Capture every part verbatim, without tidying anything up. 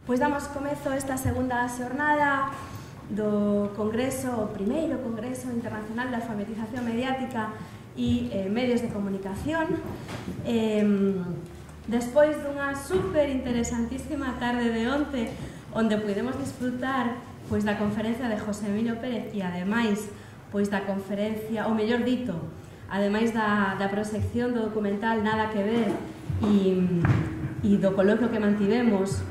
Pois damos comezo a esta segunda xornada do Congreso, o primeiro Congreso Internacional de Alfabetización Mediática e eh, Medios de Comunicación. Eh, despois dunha super interesantísima tarde de onte, onde podemos disfrutar pois, da conferencia de José Emilio Pérez e ademais pois, da conferencia, ou mellor dito, ademais da, da proxección do documental Nada que ver e, e do coloquio que mantivemos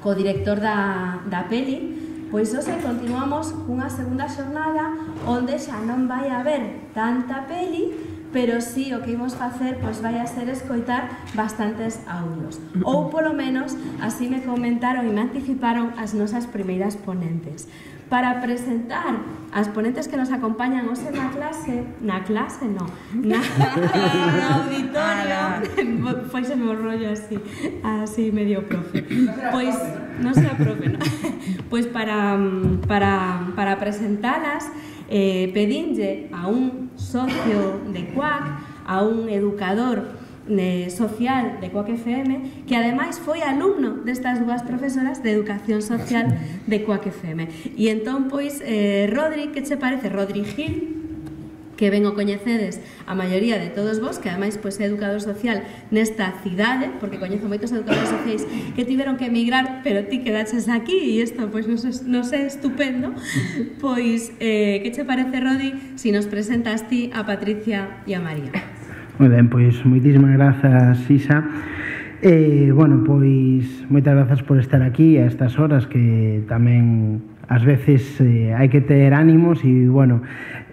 co director da, da peli, pois hoxe continuamos cunha segunda xornada onde xa non vai haber tanta peli, pero sí o que imos facer pois vai a ser escoitar bastantes audios. Ou polo menos así me comentaron e me anticiparon as nosas primeiras ponentes. Para presentar as ponentes que nos acompañan hoxe na clase, na clase non, na, na auditorio, foi se me rollo así, así medio profe. Pois, non sea profe, non? Pois para, para, para presentalas, eh, pedinlle a un socio de C U A C, a un educador de social de C U A C F M, que ademais foi alumno destas dúas profesoras de Educación Social de C U A C F M. E entón, pois, eh, Rodri, que che parece? Rodri Gil, que ben o coñecedes a maioría de todos vos, que ademais pois, é educador social nesta cidade, porque coñezo moitos educadores sociais que tiveron que emigrar, pero ti quedaches aquí e isto pois, nos, nos é estupendo. Pois, eh, que che parece, Rodri, si nos presentas ti a Patricia e a María? Moi ben, pois moitísimas grazas, Isa. Eh, bueno, pois moitas grazas por estar aquí a estas horas que tamén ás veces eh, hai que ter ánimos e, bueno,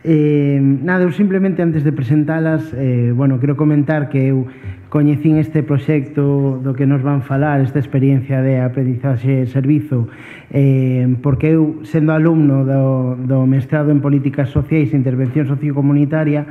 eh, nada, eu simplemente antes de presentalas, eh, bueno, quero comentar que eu coñecín este proxecto do que nos van falar, esta experiencia de aprendizaxe e servizo, eh, porque eu, sendo alumno do, do mestrado en Políticas Sociais e Intervención Sociocomunitaria,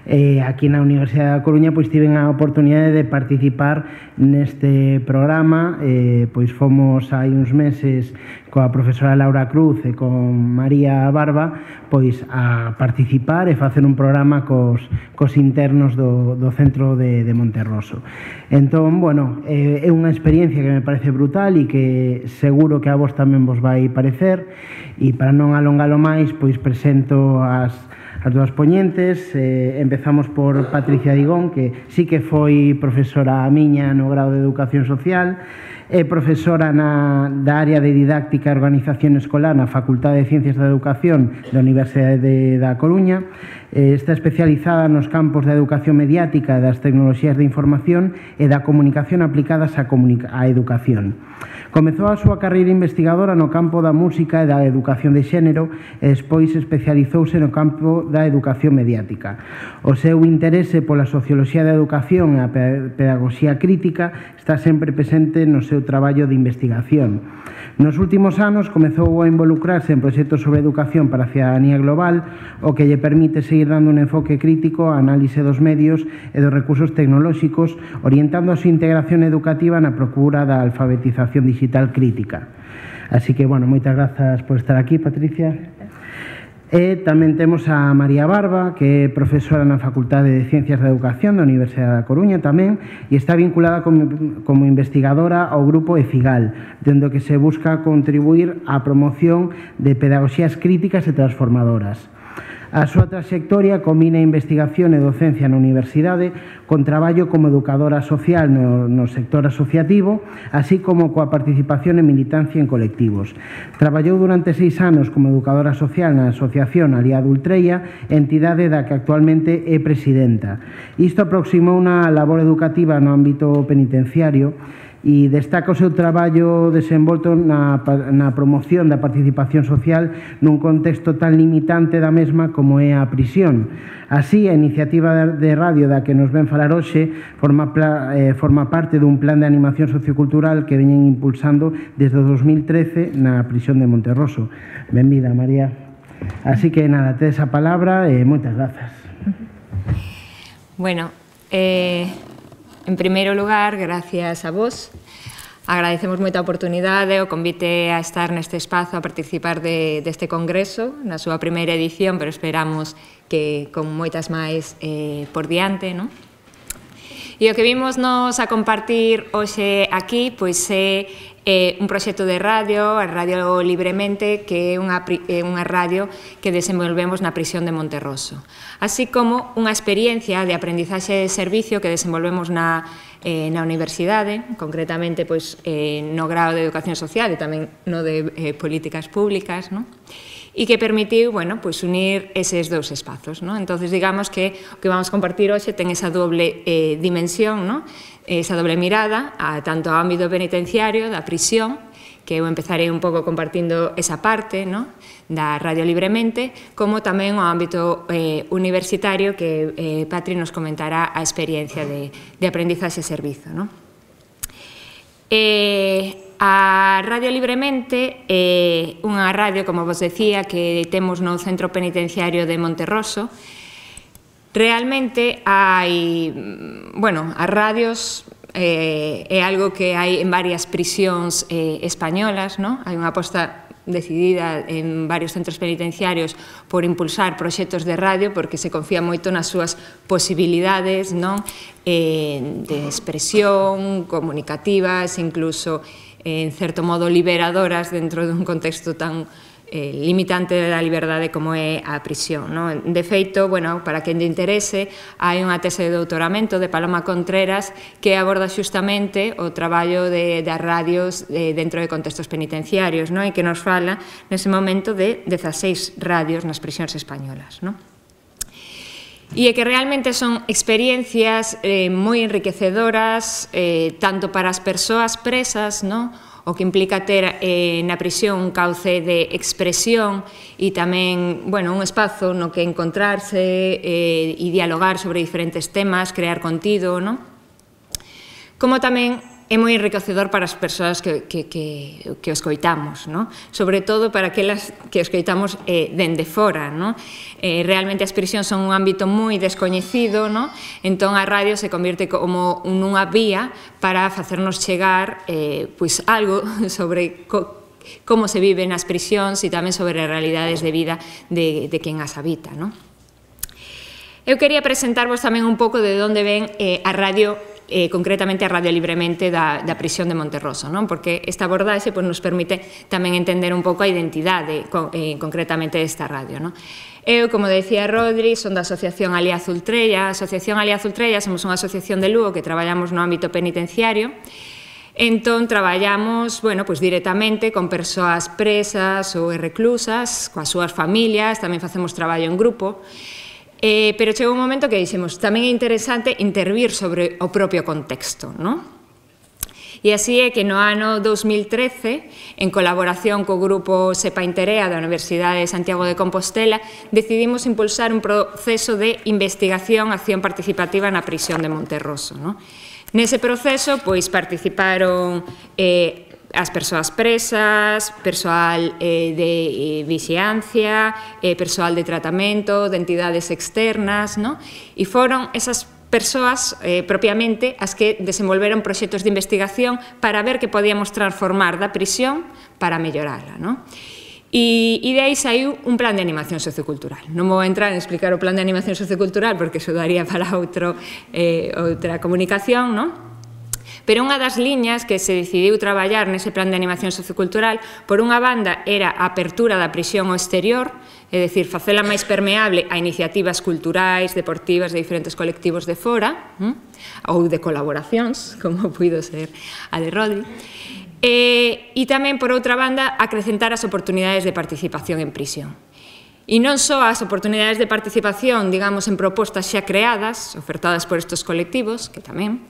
eh, aquí na Universidade da Coruña, pois tiven a oportunidade de participar neste programa, eh, pois fomos hai uns meses coa profesora Laura Cruz e con María Barba, pois a participar e facer un programa cos, cos internos do, do centro de, de Monterroso. Entón, bueno, é unha experiencia que me parece brutal e que seguro que a vos tamén vos vai parecer, e para non alongalo máis, pois presento as, as dúas poñentes. Eh, empezamos por Patricia Digón, que sí que foi profesora a miña no grado de Educación Social, é profesora na, da área de didáctica e organización escolar na Facultade de Ciencias da Educación da Universidade de, da Coruña. Eh, está especializada nos campos da educación mediática, das tecnoloxías de información e da comunicación aplicadas á, comunica á educación. Comezou a súa carreira investigadora no campo da música e da educación de xénero e despois especializouse no campo da educación mediática. O seu interese pola socioloxía da educación e a pedagogía crítica está sempre presente no seu traballo de investigación. Nos últimos anos comezou a involucrarse en proxectos sobre educación para a cidadanía global, o que lle permite seguir dando un enfoque crítico á análise dos medios e dos recursos tecnolóxicos, orientando a súa integración educativa na procura da alfabetización digital crítica. Así que, bueno, moitas grazas por estar aquí, Patricia. E tamén temos a María Barba, que é profesora na Facultade de Ciencias da Educación da Universidade da Coruña tamén, e está vinculada como, como investigadora ao grupo EFIGAL, dende o que se busca contribuir á promoción de pedagogías críticas e transformadoras. A súa trayectoria combina investigación e docencia na universidade con traballo como educadora social no, no sector asociativo, así como coa participación e militancia en colectivos. Traballou durante seis anos como educadora social na Asociación Aliado Ultreia, entidade da que actualmente é presidenta. Isto aproximou unha labor educativa no ámbito penitenciario e destaca o seu traballo desenvolto na, na promoción da participación social nun contexto tan limitante da mesma como é a prisión. Así, a iniciativa de radio da que nos ven falar hoxe forma, eh, forma parte dun plan de animación sociocultural que veñen impulsando desde o dos mil trece na prisión de Monterroso. Benvida, María. Así que, nada, tes a palabra e moitas grazas. Bueno, eh... en primeiro lugar, gracias a vos. Agradecemos moita a oportunidade, o convite a estar neste espazo, a participar de, deste congreso, na súa primeira edición, pero esperamos que con moitas máis eh, por diante, non? E o que vimos nos a compartir hoxe aquí pois é eh, un proxecto de radio, a Radio Libremente, que é unha, é unha radio que desenvolvemos na prisión de Monterroso. Así como unha experiencia de aprendizaxe de servicio que desenvolvemos na, eh, na universidade, concretamente pois, eh, no grado de Educación Social e tamén no de eh, Políticas Públicas, non? E que permitiu, bueno, pois unir eses dous espazos, non? Entonces, digamos que o que vamos a compartir hoxe ten esa doble eh, dimensión, non? Esa doble mirada, a, tanto ao ámbito penitenciario, da prisión, que eu empezarei un pouco compartindo esa parte, non? Da Radio Libremente, como tamén ao ámbito eh, universitario, que eh, Patri nos comentará a experiencia de, de aprendizaxe e servizo, non? Eh, a Radio Libremente é unha radio, como vos decía, que temos no Centro Penitenciario de Monterroso. Realmente hai, bueno, as radios eh, é algo que hai en varias prisións eh, españolas, non? Hai unha aposta decidida en varios centros penitenciarios por impulsar proxectos de radio porque se confía moito nas súas posibilidades, non? Eh, de expresión, comunicativas, incluso en certo modo liberadoras dentro dun contexto tan eh, limitante da liberdade como é a prisión, non? De feito, bueno, para quen lle interese, hai unha tese de doutoramento de Paloma Contreras que aborda xustamente o traballo de, das radios eh, dentro de contextos penitenciarios, non? E que nos fala nese momento de dezaseis radios nas prisións españolas, non? E é que realmente son experiencias eh, moi enriquecedoras eh, tanto para as persoas presas, no? O que implica ter eh, na prisión un cauce de expresión e tamén, bueno, un espazo no que encontrarse eh, e dialogar sobre diferentes temas, crear contido, no? Como tamén é moi enriquecedor para as persoas que, que, que, que o escoitamos, no? Sobre todo para aquelas que o escoitamos eh, dende fora, no? Eh, realmente as prisións son un ámbito moi descoñecido, no? Entón a radio se convierte como nunha vía para facernos chegar eh, pois algo sobre co, como se vive nas prisións e tamén sobre as realidades de vida de, de quen as habita, no? Eu quería presentarvos tamén un pouco de onde ven eh, a radio, eh, concretamente a Radio Libremente da, da prisión de Monterroso, non? Porque esta abordaxe pues, nos permite tamén entender un pouco a identidade eh, concretamente desta radio, non? Eu, como decía Rodri, son da Asociación Alianza Ultrella. A Asociación Alianza Ultrella somos unha asociación de Lugo que traballamos no ámbito penitenciario. Entón, traballamos, bueno, pues directamente con persoas presas ou reclusas, coas súas familias, tamén facemos traballo en grupo. Eh, pero chegou un momento que dixemos tamén é interesante intervir sobre o propio contexto, non? E así é que no ano dous mil trece, en colaboración co grupo SEPA Interea da Universidade de Santiago de Compostela, decidimos impulsar un proceso de investigación, acción participativa na prisión de Monterroso, non? Nese proceso, pois, participaron eh, as persoas presas, persoal eh, de eh, vixiancia, eh, persoal de tratamento, de entidades externas, no? E foron esas persoas eh, propiamente as que desenvolveron proxectos de investigación para ver que podíamos transformar da prisión para mellorarla, no? E, e de aí saiu un plan de animación sociocultural. Non vou entrar en explicar o plan de animación sociocultural porque eso daría para outro, eh, outra comunicación, non? Pero unha das liñas que se decidiu traballar nese plan de animación sociocultural, por unha banda, era a apertura da prisión ao exterior, é dicir, facela máis permeable a iniciativas culturais, deportivas de diferentes colectivos de fora, hm? ou de colaboracións, como puido ser a de Rodri, e, e tamén, por outra banda, acrecentar as oportunidades de participación en prisión. E non só as oportunidades de participación, digamos, en propostas xa creadas, ofertadas por estes colectivos, que tamén,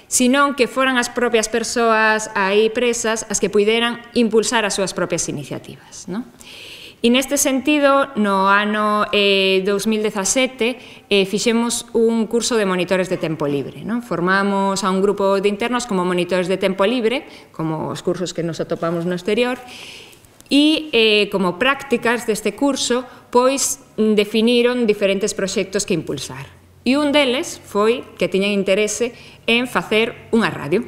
senón que foran as propias persoas aí presas as que puideran impulsar as súas propias iniciativas, non? E neste sentido, no ano eh, dous mil dezasete, eh, fixemos un curso de monitores de tempo libre, non? Formamos a un grupo de internos como monitores de tempo libre, como os cursos que nos atopamos no exterior, e eh, como prácticas deste curso, pois definiron diferentes proxectos que impulsar. E un deles foi que tiñan interese en facer unha radio.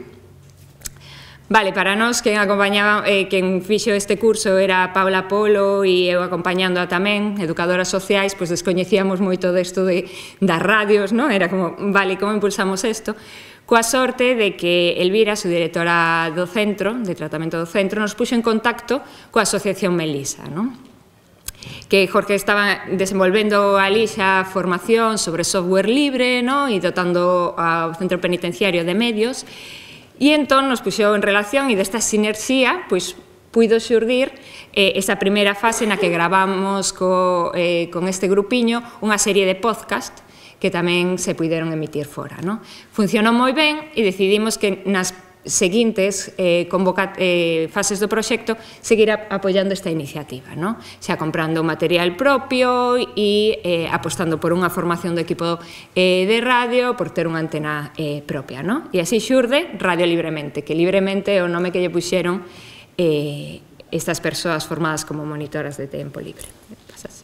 Vale, para nós, quen acompañaba, eh, quen fixo este curso era Paula Polo e eu acompañándoa tamén, educadoras sociais, pois descoñecíamos moito desto de, das radios, non? Era como, vale, como impulsamos isto? Coa sorte de que Elvira, su directora do centro, de tratamento do centro, nos puxo en contacto coa Asociación Melisa, non? Que Jorge estaba desenvolvendo ali xa formación sobre software libre, non? E dotando ao centro penitenciario de medios. E entón nos puxou en relación e desta sinerxía pois puido xurdir eh, esa primeira fase na que gravamos co, eh, con este grupiño unha serie de podcast que tamén se puideron emitir fora. No? Funcionou moi ben e decidimos que nas seguintes eh, convoca, eh, fases do proxecto seguir apoiando esta iniciativa, no? Xa comprando material propio e eh, apostando por unha formación do equipo eh, de radio, por ter unha antena eh, propia, no? E así xurde Radio Libremente, que libremente é o nome que lle puxeron eh, estas persoas formadas como monitoras de tempo libre. Pasas.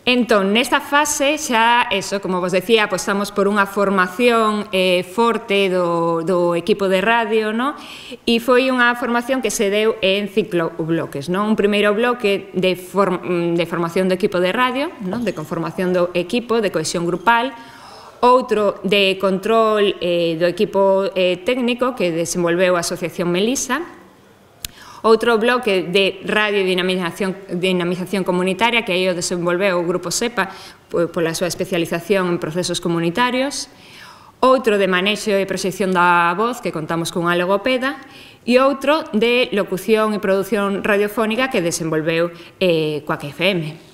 Entón, nesta fase xa, eso, como vos decía, apostamos por unha formación eh, forte do, do equipo de radio, no? E foi unha formación que se deu en cinco bloques, no? Un primeiro bloque de, form, de formación do equipo de radio, no? De conformación do equipo, de cohesión grupal, outro de control eh, do equipo eh, técnico que desenvolveu a Asociación Melisa, outro bloque de radio e dinamización, dinamización comunitaria, que aí o desenvolveu o Grupo SEPA pola súa especialización en procesos comunitarios, outro de manexo e proxección da voz, que contamos cunha logopeda, e outro de locución e produción radiofónica que desenvolveu eh, coa F M.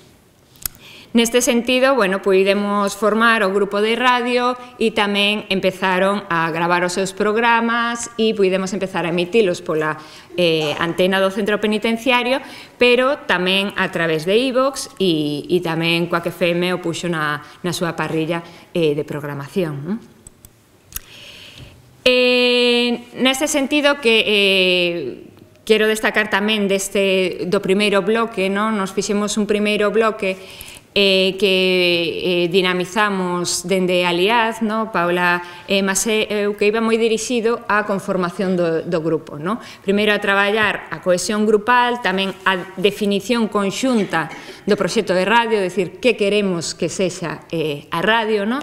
Neste sentido, bueno, puidemos formar o grupo de radio e tamén empezaron a gravar os seus programas e puidemos empezar a emitilos pola eh, antena do centro penitenciario, pero tamén a través de iVox e, e tamén coa F M o puxo na, na súa parrilla eh, de programación. ¿No? Eh, neste sentido que... Eh, quero destacar tamén deste, do primeiro bloque, ¿no? Nos fixemos un primeiro bloque Eh, que eh, dinamizamos dende Aliaz, no? Paula e eh, Masé, eu que iba moi dirixido á conformación do, do grupo. No? Primeiro a traballar a cohesión grupal, tamén a definición conxunta do proxecto de radio, decir, que queremos que sexa eh, a radio, no?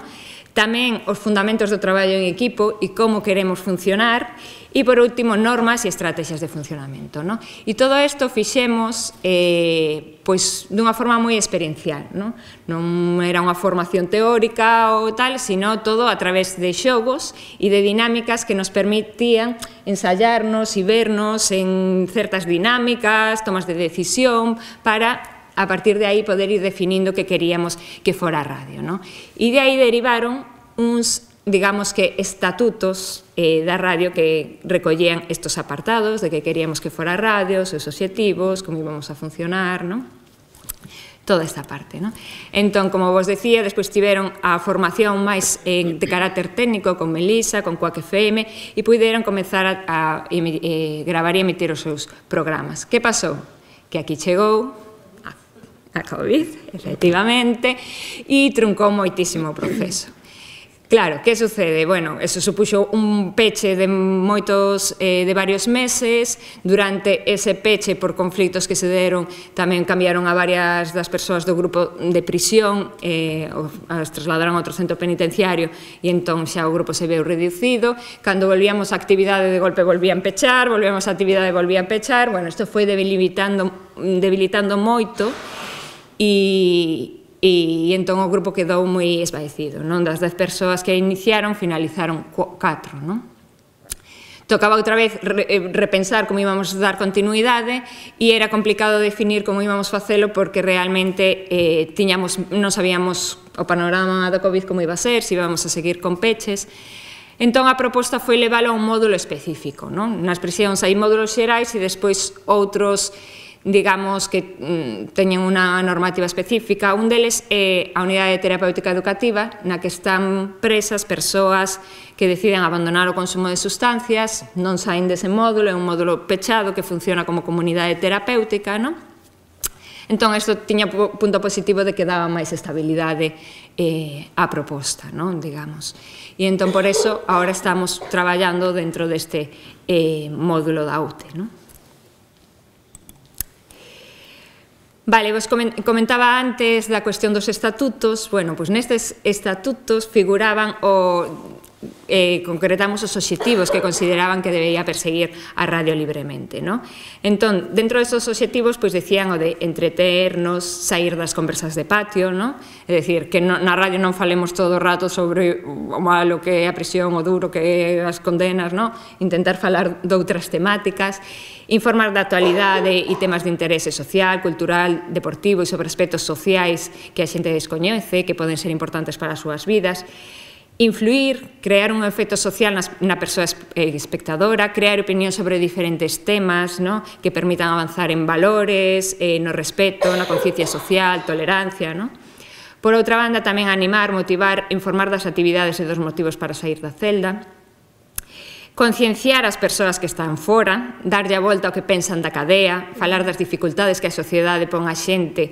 Tamén os fundamentos do traballo en equipo e como queremos funcionar, e por último, normas e estrategias de funcionamento. No? E todo isto fixemos eh, pois, dunha forma moi experiencial. No? Non era unha formación teórica ou tal, sino todo a través de xogos e de dinámicas que nos permitían ensayarnos e vernos en certas dinámicas, tomas de decisión, para a partir de aí poder ir definindo que queríamos que fora a radio. No? E de aí derivaron uns, digamos que, estatutos eh, da radio que recollían estos apartados de que queríamos que fora a radio, os seus obxectivos, como íbamos a funcionar, no? Toda esta parte. No? Entón, como vos decía, despois tiveron a formación máis eh, de carácter técnico con Melisa, con Coac F M, e puderon comezar a, a eh, gravar e emitir os seus programas. Que pasou? Que aquí chegou a COVID, efectivamente, e truncou moitísimo o proceso. Claro, que sucede? Bueno, eso supuxo un peche de moitos, eh, de varios meses. Durante ese peche, por conflitos que se deron, tamén cambiaron a varias das persoas do grupo de prisión, eh, as trasladaron a outro centro penitenciario, e entón xa o grupo se veu reducido. Cando volvíamos a actividade, de golpe volvían pechar, volvíamos a actividade, volvían pechar. Bueno, isto foi debilitando, debilitando moito, e... E entón o grupo quedou moi esvaecido, non? Das dez persoas que iniciaron, finalizaron catro, non? Tocaba outra vez repensar como íbamos dar continuidade e era complicado definir como íbamos facelo porque realmente eh, tiñamos, non sabíamos o panorama do COVID como iba a ser, se íbamos a seguir con peches. Entón a proposta foi leválo a un módulo específico, non? Nas prisións hai módulos xerais e despois outros, digamos, que mm, teñen unha normativa específica. Un deles é a unidade terapéutica educativa, na que están presas persoas que deciden abandonar o consumo de sustancias, non saen dese módulo, é un módulo pechado que funciona como comunidade terapéutica, non? Entón, isto tiña punto positivo de que daba máis estabilidade á proposta, digamos. E entón, por eso, agora estamos traballando dentro deste módulo da U T E, non? Vale, vos comentaba antes da cuestión dos estatutos. Bueno, pois nestes estatutos figuraban o... Eh, concretamos os obxectivos que consideraban que debía perseguir a radio libremente, non? Entón, dentro destes obxectivos, pois decían o de entreternos, sair das conversas de patio, non? É dicir, que no, na radio non falemos todo o rato sobre o malo que é a prisión, o duro que é as condenas, non? Intentar falar de outras temáticas, informar da actualidade e temas de interese social, cultural, deportivo e sobre aspectos sociais que a xente descoñece, que poden ser importantes para as súas vidas. Influir, crear un efecto social na persoa espectadora, crear opinión sobre diferentes temas que permitan avanzar en valores, no respeto, na conciencia social, tolerancia. Por outra banda, tamén animar, motivar, informar das actividades e dos motivos para sair da celda, concienciar as persoas que están fora, darlle a volta ao que pensan da cadea, falar das dificultades que a sociedade pon a xente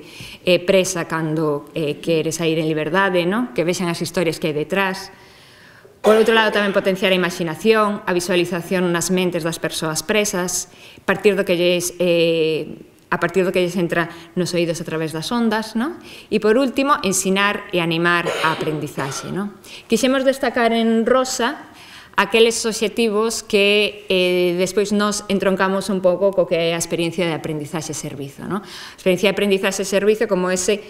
presa cando quere sair en liberdade, que vexan as historias que hai detrás. Por outro lado, tamén potenciar a imaginación, a visualización nas mentes das persoas presas, partir do que lles... a partir do que lles entra nos oídos a través das ondas, e por último, ensinar e animar a aprendizaxe. Quixemos destacar en rosa aqueles obxectivos que despois nos entroncamos un pouco co que é a experiencia de aprendizaxe-servizo. A experiencia de aprendizaxe-servizo como ese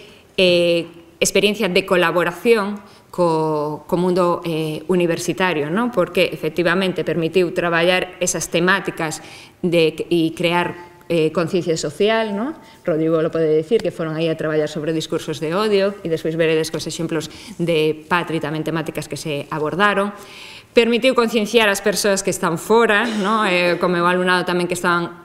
experiencia de colaboración co mundo universitario, porque efectivamente permitiu traballar esas temáticas e crear conciencia social, Rodrigo lo pode dicir, que foron aí a traballar sobre discursos de odio e despois veredes cos exemplos de Patri tamén temáticas que se abordaron. Permitiu concienciar as persoas que están fora, como o alumnado tamén que estaban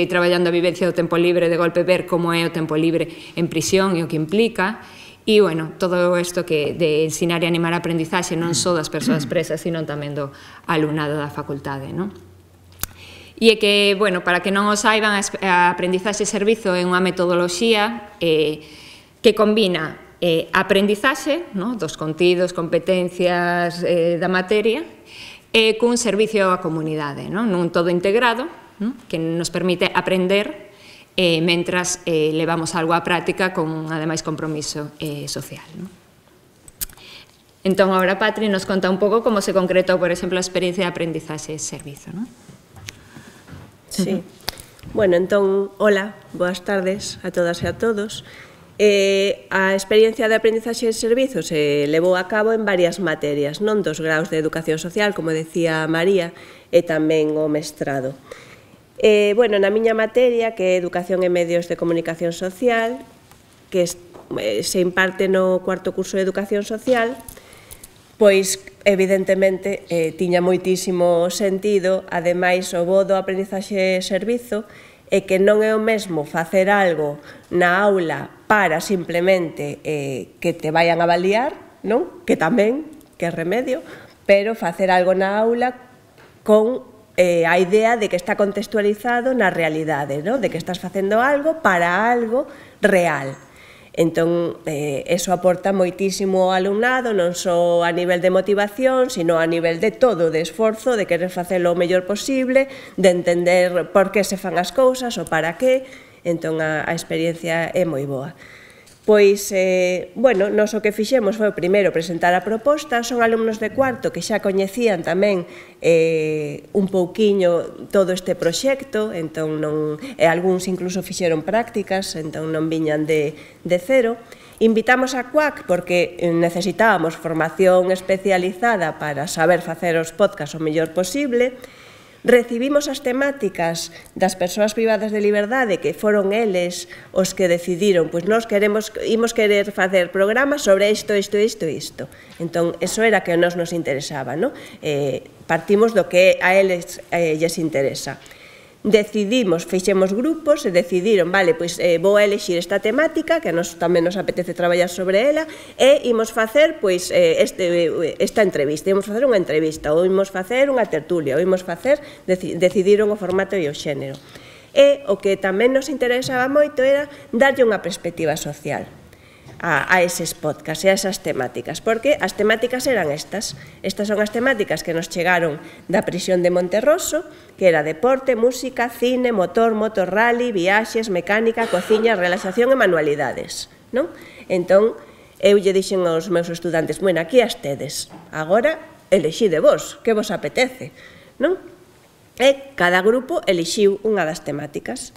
traballando a vivencia do tempo libre, de golpe ver como é o tempo libre en prisión e o que implica. E, bueno, todo isto de ensinar e animar a aprendizaxe non só das persoas presas, sino tamén do alumnado da facultade, non? E é que, bueno, para que non o saiban, a aprendizaxe-servizo é unha metodoloxía que combina aprendizaxe dos contidos, competencias da materia e cun servicio á comunidade, nun todo integrado que nos permite aprender mentras levamos algo á práctica con, ademais, compromiso social. Entón, agora Patri nos conta un pouco como se concretou, por exemplo, a experiencia de aprendizaxe-servizo. Sí. Bueno, entón, hola, boas tardes a todas e a todos. Eh, a experiencia de aprendizaxe de servizo se levou a cabo en varias materias, non dos graus de educación social, como decía María, e tamén o mestrado. Eh, bueno, na miña materia, que é Educación e Medios de Comunicación Social, que eh, se imparte no cuarto curso de Educación Social, pois, evidentemente, eh, tiña moitísimo sentido, ademais, o bo do aprendizaxe de servizo, é que non é o mesmo facer algo na aula para simplemente que te vayan a avaliar, non? Que tamén, que é remedio, pero facer algo na aula con a idea de que está contextualizado na realidade, de que estás facendo algo para algo real. Entón, eso aporta moitísimo ao alumnado, non só a nivel de motivación, sino a nivel de todo, de esforzo, de querer facelo o mellor posible, de entender por que se fan as cousas ou para que. Entón, a experiencia é moi boa. Pois, bueno, nos o que fixemos foi primeiro presentar a proposta. Son alumnos de cuarto que xa coñecían tamén un pouquiño todo este proxecto, entón algúns incluso fixeron prácticas, entón non viñan de cero. Invitamos a C U A C porque necesitábamos formación especializada para saber facer os podcasts o mellor posible. Recibimos as temáticas das persoas privadas de liberdade, que foron eles os que decidiron, pois nós queremos, imos querer facer programas sobre isto, isto, isto, isto. Entón, eso era que nos nos interesaba, non? Partimos do que a eles lles interesa. Decidimos, fixemos grupos e decidiron, vale, pois vou a elexir esta temática, que a nos tamén nos apetece traballar sobre ela, e imos facer, pois, esta entrevista, imos facer unha entrevista, ou imos facer unha tertulia, ou imos facer, decidiron o formato e o xénero. E o que tamén nos interesaba moito era darlle unha perspectiva social a, a eses podcasts e a esas temáticas, porque as temáticas eran estas. Estas son as temáticas que nos chegaron da prisión de Monterroso, que era deporte, música, cine, motor, motor rally, viaxes, mecánica, cociña, relaxación e manualidades, non? Entón, eu lle dixen aos meus estudantes, bueno, aquí as tedes, agora elexide vos, que vos apetece, non? E cada grupo elixiu unha das temáticas.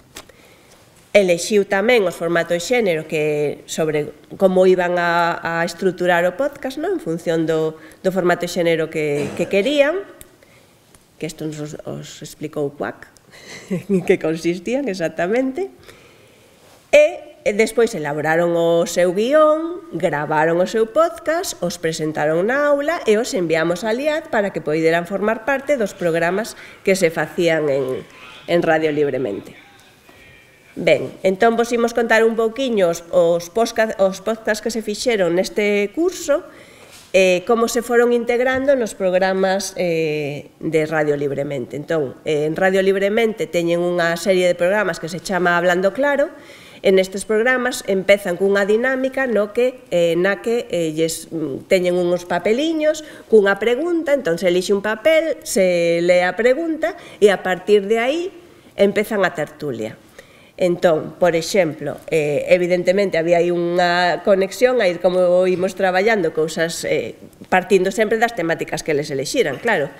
Elixiu tamén os formatos xénero que sobre como iban a, a estruturar o podcast, non? En función do, do formato xénero que, que querían, que isto nos os, os explicou Cuac, en que consistían exactamente, e despois elaboraron o seu guión, gravaron o seu podcast, os presentaron na aula e os enviamos a Liad para que poideran formar parte dos programas que se facían en, en Radio Libremente. Ben, entón vos imos contar un pouquiño os, os, podcast, os podcasts que se fixeron neste curso, eh, como se foron integrando nos programas eh, de Radio Libremente. Entón, eh, en Radio Libremente teñen unha serie de programas que se chama Hablando Claro. En estes programas empezan cunha dinámica no que, eh, na que eh, lles teñen uns papeliños cunha pregunta, entón se elixe un papel, se lee a pregunta e a partir de aí empezan a tertulia. Entón, por exemplo, eh, evidentemente había aí unha conexión a ir como imos traballando cousas eh, partindo sempre das temáticas que les elixiran, claro.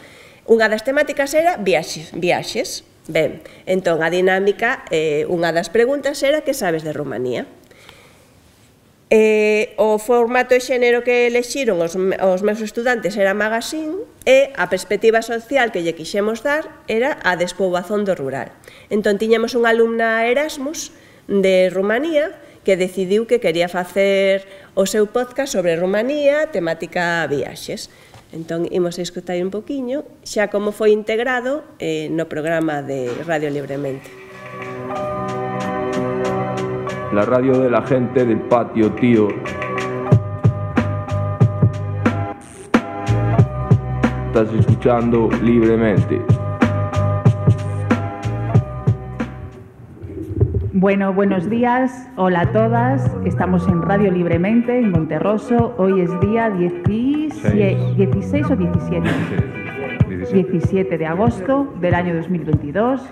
Unha das temáticas era viaxes, viaxes. Ben, entón a dinámica, eh, unha das preguntas era que sabes de Rumanía? Eh, o formato e xénero que elexiron os, os meus estudantes era magazine e a perspectiva social que lle quixemos dar era a despoboación do rural. Entón tiñamos unha alumna Erasmus de Rumanía que decidiu que quería facer o seu podcast sobre Rumanía, temática viaxes. Entón, imos a escutar un poquinho xa como foi integrado eh, no programa de Radio Libremente. La radio de la gente del patio, tío. Estás escuchando Libremente. Bueno, buenos días, hola a todas, estamos en Radio Libremente, en Monterroso, hoy es día dieciséis o diecisiete, diecisiete de agosto del año dos mil veintidós.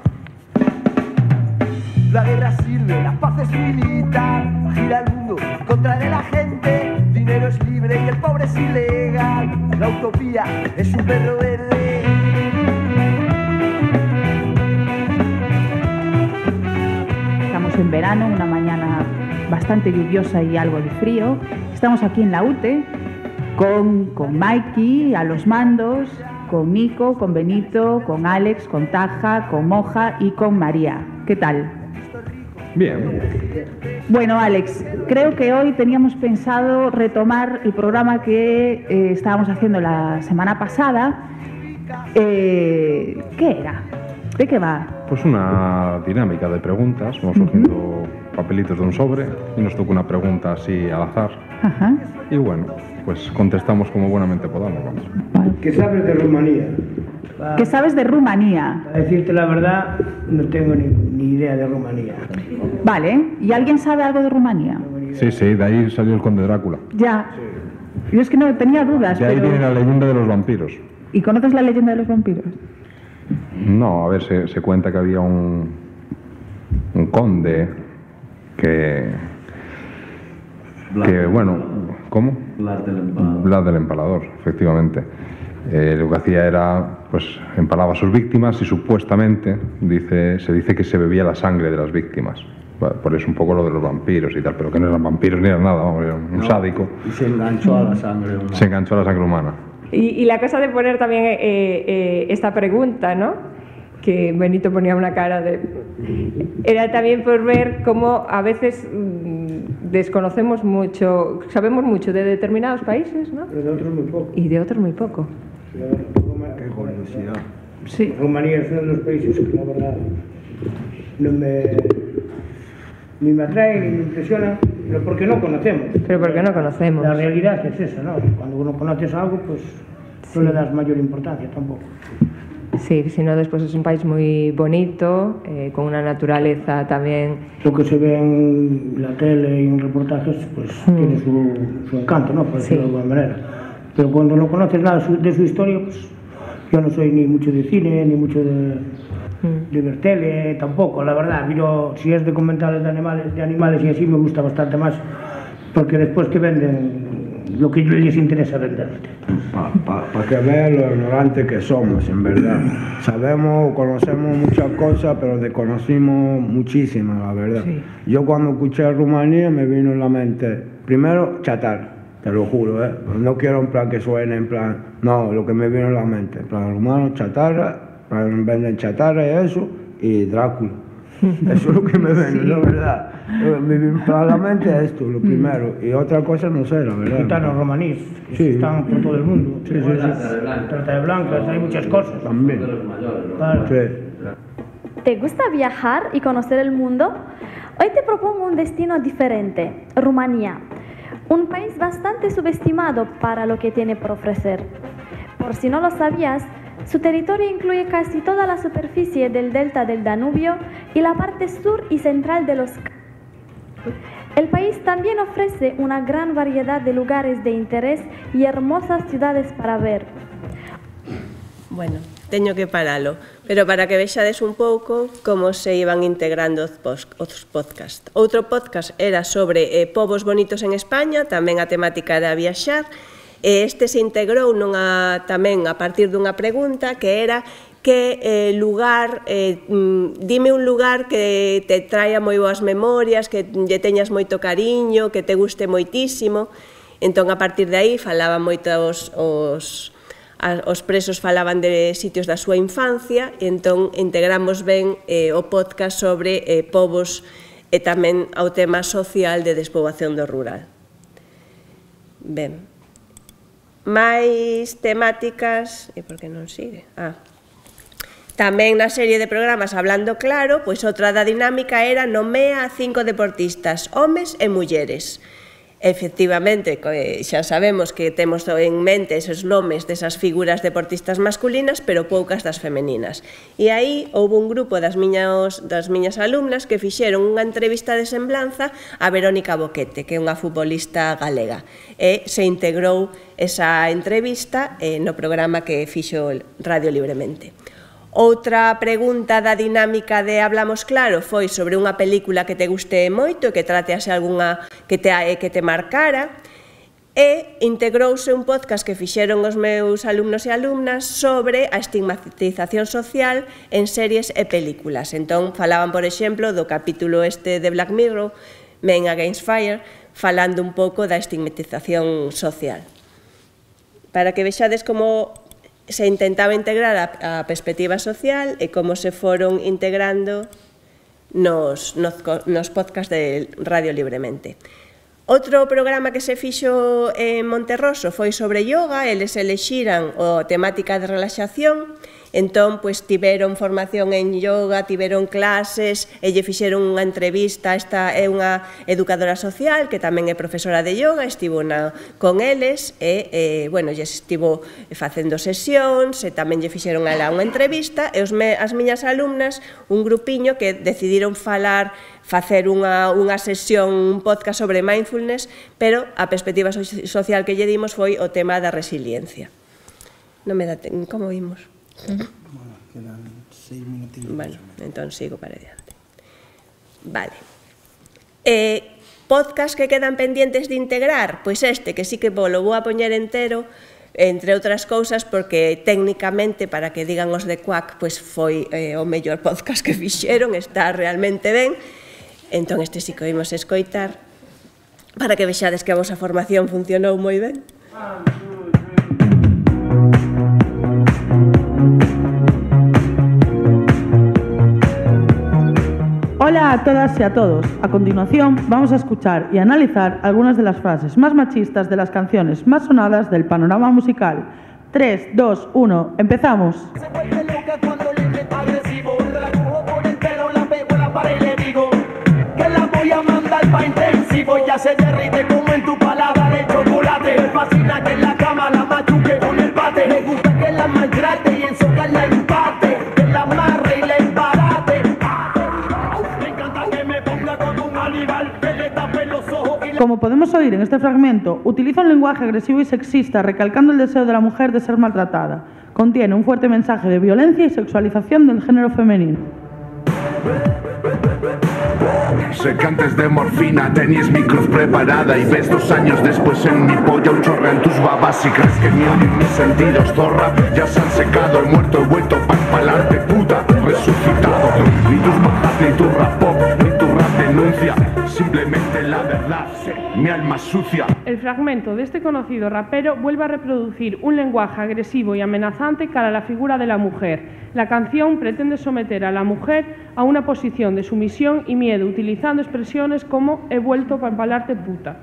La guerra sirve, la paz es militar, gira el mundo en contra de la gente, dinero es libre y el pobre es ilegal, la utopía es un perro verde. En verano, una mañana bastante lluviosa y algo de frío. Estamos aquí en la U T E con, con Mikey a los mandos, con Nico, con Benito, con Alex, con Taja, con Moja y con María. ¿Qué tal? Bien. Bueno, Alex, creo que hoy teníamos pensado retomar el programa que eh, estábamos haciendo la semana pasada. Eh, ¿Qué era? ¿De qué va? Pues una dinámica de preguntas. Vamos cogiendo uh-huh. papelitos de un sobre y nos toca una pregunta así al azar. Uh-huh. Y bueno, pues contestamos como buenamente podamos. Vamos. Vale. ¿Qué sabes de Rumanía? ¿Qué sabes de Rumanía? Para decirte la verdad, no tengo ni, ni idea de Rumanía. Vale, ¿y alguien sabe algo de Rumanía? Sí, sí, de ahí salió el Conde Drácula. Ya. Yo es que no tenía dudas. De ahí pero... viene la leyenda de los vampiros. ¿Y conoces la leyenda de los vampiros? No, a ver, se, se cuenta que había un, un conde que, que bueno, ¿cómo? Vlad del Empalador. Vlad del Empalador, efectivamente. Eh, lo que hacía era, pues, empalaba a sus víctimas y supuestamente dice, se dice que se bebía la sangre de las víctimas. Por eso un poco lo de los vampiros y tal, pero que no eran vampiros ni eran nada, vamos, era un no, sádico. Y se enganchó a la sangre humana. Se enganchó a la sangre humana. Y, y la cosa de poner también eh, eh, esta pregunta, ¿no? Que Benito ponía una cara de... Era también por ver cómo a veces mmm, desconocemos mucho, sabemos mucho de determinados países, ¿no? Pero de otros muy poco. Y de otros muy poco. Qué curiosidad. Sí. Rumanía es uno de los países que la verdad no me... ni me atrae ni me impresiona, pero porque no conocemos. Pero porque no conocemos. La realidad es esa, ¿no? Cuando uno conoces algo, pues no sí. le das mayor importancia tampoco. Sí, sino después es un país muy bonito, eh, con una naturaleza también... Lo que se ve en la tele y en reportajes, pues mm. tiene su, su encanto, ¿no? Por decirlo sí. de alguna manera. Pero cuando no conoces nada de su historia, pues yo no soy ni mucho de cine, ni mucho de, mm. de ver tele, tampoco, la verdad. Miro, si es de documentales de animales, de animales y así, me gusta bastante más, porque después que venden lo que les interesa venderte. Para pa, pa que vean lo ignorante que somos, en verdad. Sabemos, conocemos muchas cosas, pero desconocimos muchísimas, la verdad. Sí. Yo cuando escuché Rumanía me vino en la mente, primero, chatarra, te lo juro, ¿eh? No quiero en plan que suene, en plan, no, lo que me vino en la mente, en plan, rumano, chatarra, venden chatarra y eso, y Drácula. Eso es lo que me viene, sí. la verdad. Me viene a la mente esto, lo primero. Y otra cosa no sé, la verdad. Gitanos romaníes, sí. están por todo el mundo. Sí, sí, sí. Trata de blancas. Trata de blancas, hay muchas cosas. También. Claro. Sí. ¿Te gusta viajar y conocer el mundo? Hoy te propongo un destino diferente, Rumanía. Un país bastante subestimado para lo que tiene por ofrecer. Por si no lo sabías, su territorio incluye casi toda la superficie del delta del Danubio y la parte sur y central de los... El país también ofrece una gran variedad de lugares de interés y hermosas ciudades para ver. Bueno, teño que paralo, pero para que vexades un pouco como se iban integrando os podcasts. Outro podcast era sobre eh, povos bonitos en España, tamén a temática era viaxar. Este se integrou nunha, tamén a partir dunha pregunta que era que eh, lugar, eh, dime un lugar que te traia moi boas memorias, que lle teñas moito cariño, que te guste moitísimo. Entón, a partir de aí, falaban moitos os, os presos falaban de sitios da súa infancia, e entón integramos ben eh, o podcast sobre eh, povos e tamén ao tema social de despoboación do rural. Ben. máis temáticas, e por que non sigue? Ah. Tamén na serie de programas Hablando Claro, pois outra da dinámica era nomea a cinco deportistas, homes e mulleres. Efectivamente, xa sabemos que temos en mente esos nomes desas figuras deportistas masculinas, pero poucas das femeninas. E aí houve un grupo das miñas, das miñas alumnas que fixeron unha entrevista de semblanza a Verónica Boquete, que é unha futbolista galega. E se integrou esa entrevista eh, no programa que fixo Radio Libremente. Outra pregunta da dinámica de Hablamos Claro foi sobre unha película que te guste moito e que tratease algunha que te, que te marcara, e integrouse un podcast que fixeron os meus alumnos e alumnas sobre a estigmatización social en series e películas. Entón, falaban, por exemplo, do capítulo este de Black Mirror, Men Against Fire, falando un pouco da estigmatización social. Para que vexades como se intentaba integrar a, a perspectiva social e como se foron integrando nos, nos, nos podcasts de Radio Libremente. Outro programa que se fixo en Monterroso foi sobre yoga, eles elexiran a temática de relaxación, entón, pois, tiveron formación en yoga, tiveron clases, e lle fixeron unha entrevista, esta é unha educadora social que tamén é profesora de yoga, estivo na, con eles, e, e bueno, lle estivo facendo sesións, e tamén lle fixeron a ela unha entrevista, e os me, as miñas alumnas, un grupiño que decidiron falar, facer unha, unha sesión, un podcast sobre mindfulness, pero a perspectiva social que lle dimos foi o tema da resiliencia. Non me dá, como vimos? Bueno, quedan seis minutinhos. Bueno, entón sigo para adiante. Vale. Eh, podcast que quedan pendientes de integrar? Pois este, que sí que vou, lo vou a poñer entero, entre outras cousas, porque técnicamente, para que digan os de Quack, pois foi eh, o mellor podcast que fixeron, está realmente ben. Entón este sí que oímos escoitar, para que vexades que a vosa formación funcionou moi ben. Hola a todas y a todos. A continuación vamos a escuchar y analizar algunas de las frases más machistas de las canciones más sonadas del panorama musical. tres, dos, uno, empezamos. Se vuelve loca cuando le grita agresivo, la cojo por el pelo, la pego en la pared y le digo que la voy a mandar pa' intensivo. Ya se derrite como en tu paladar el chocolate. Me fascina que en la cama la machuque con el bate. Me gusta que la maltrate y ensocarla en empate. como podemos oír en este fragmento, utiliza un lenguaje agresivo y sexista, recalcando el deseo de la mujer de ser maltratada. Contiene un fuerte mensaje de violencia y sexualización del género femenino. Sé que antes de morfina tenías mi cruz preparada y ves dos años después en mi polla un chorro en tus babas y crees que ni oyen mis sentidos, zorra. Ya se han secado, he muerto, he vuelto pa' empalarte, puta, resucitado. Ni tus bajas, ni tu rap pop, ni tu rap denuncia, simplemente la verdad, mi alma sucia. El fragmento de este conocido rapero vuelve a reproducir un lenguaje agresivo y amenazante cara a la figura de la mujer. La canción pretende someter a la mujer a una posición de sumisión y miedo, utilizando expresiones como he vuelto para empalarte puta.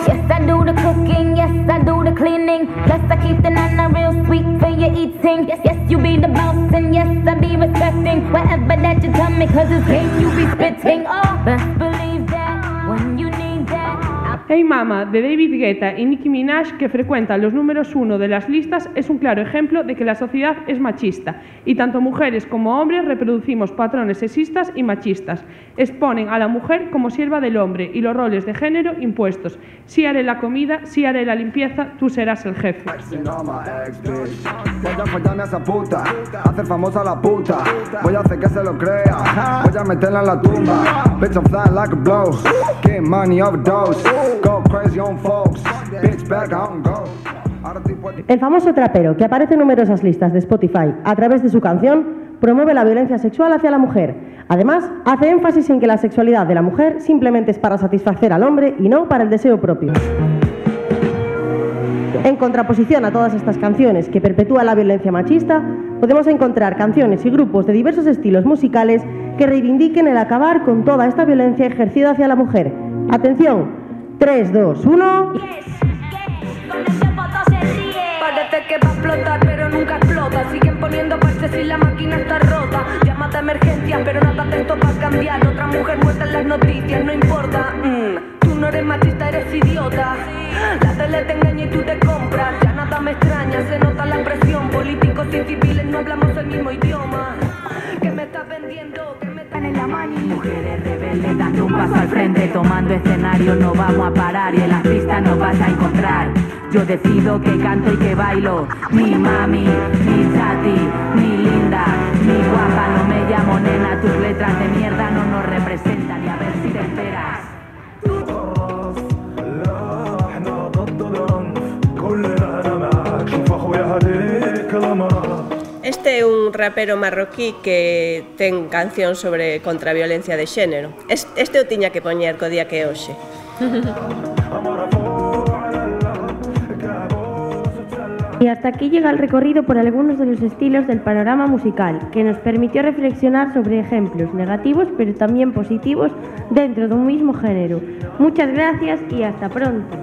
Yes, I do the cooking, yes, I do the cleaning. Plus I keep the nana real sweet for your eating. Yes, yes, you be the boss and yes, I be respecting whatever that you tell me, cause it's game you be spitting. Oh, best believe that when you need that. Hey Mama, de David Guetta y Nicki Minaj, que frecuentan los números uno de las listas, es un claro ejemplo de que la sociedad es machista y tanto mujeres como hombres reproducimos patrones sexistas y machistas. Exponen a la mujer como sierva del hombre y los roles de género impuestos. Si haré la comida, si haré la limpieza, tú serás el jefe. Voy a follarme a esa puta, hacer famosa la puta. Voy a hacer que se lo crea, voy a meterla en la tumba. Bitch, I'm flying like a blow, get money overdose. Go crazy on folks, bitch back on go. El famoso trapero, que aparece en numerosas listas de Spotify a través de su canción, promueve la violencia sexual hacia la mujer. Además, hace énfasis en que la sexualidad de la mujer simplemente es para satisfacer al hombre y no para el deseo propio. En contraposición a todas estas canciones que perpetúan la violencia machista, podemos encontrar canciones y grupos de diversos estilos musicales que reivindiquen el acabar con toda esta violencia ejercida hacia la mujer. Atención, tres, dos, uno... Parece que va a explotar, pero nunca explota. Siguen poniendo parches y la máquina está rota. Llámate a emergencias, pero nada de esto va a cambiar. Otra mujer muerta en las noticias, no importa. Mm, tú no eres machista, eres idiota. La tele te engaña y tú te compras. Ya nada me extraña, se nota la presión. Políticos y civiles no hablamos el mismo idioma. ¿Qué me estás vendiendo? ¿Qué me estás en la mani? Mujeres rebeldes dando un paso al frente, tomando escenario, no vamos a parar y en las pistas nos vas a encontrar. Yo decido que canto y que bailo, ni mami, ni chati, ni linda, ni guapa, no me llamo nena, tus letras de mierda no nos representan y a ver si te enteras. Este é un rapero marroquí que ten canción sobre contra a violencia de xénero. Este eu tiña que poñer co día que é hoxe. Y hasta aquí llega el recorrido por algunos de los estilos del panorama musical, que nos permitió reflexionar sobre ejemplos negativos pero también positivos dentro de un mismo género. Muchas gracias y hasta pronto.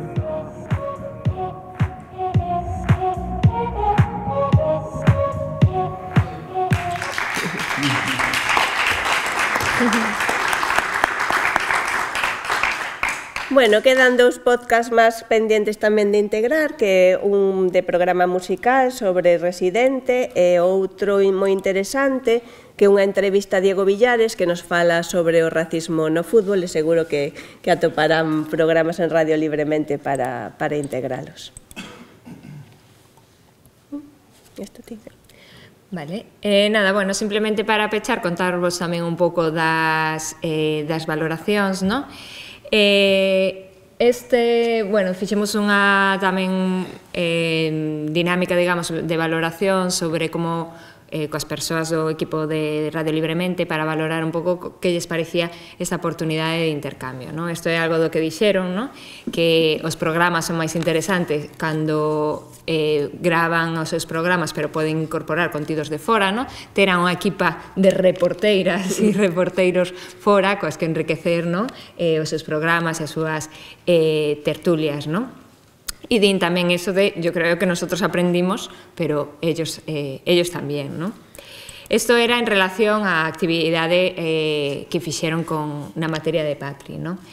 Bueno, quedan dous podcasts máis pendientes tamén de integrar, que un de programa musical sobre Residente e outro moi interesante, que é unha entrevista a Diego Villares que nos fala sobre o racismo no fútbol e seguro que, que atoparán programas en Radio Libremente para, para integralos. Isto tiña. Vale, eh, nada, bueno, simplemente para pechar, contarvos tamén un pouco das, eh, das valoracións, non? Eh, este, bueno, fixemos unha tamén eh, dinámica, digamos, de valoración sobre como eh, coas persoas do equipo de Radio Libremente para valorar un pouco que lles parecía esta oportunidade de intercambio, non? Isto é algo do que dixeron, non? Que os programas son máis interesantes cando eh, gravan os seus programas pero poden incorporar contidos de fora, non? Terán unha equipa de reporteiras e reporteiros fora coas que enriquecer, non? Eh, os seus programas e as súas eh, tertulias, non? E din tamén eso de, yo creo que nosotros aprendimos, pero ellos, eh, ellos tamén, ¿no? Esto era en relación á actividade eh, que fixeron con, na materia de Patri, ¿no?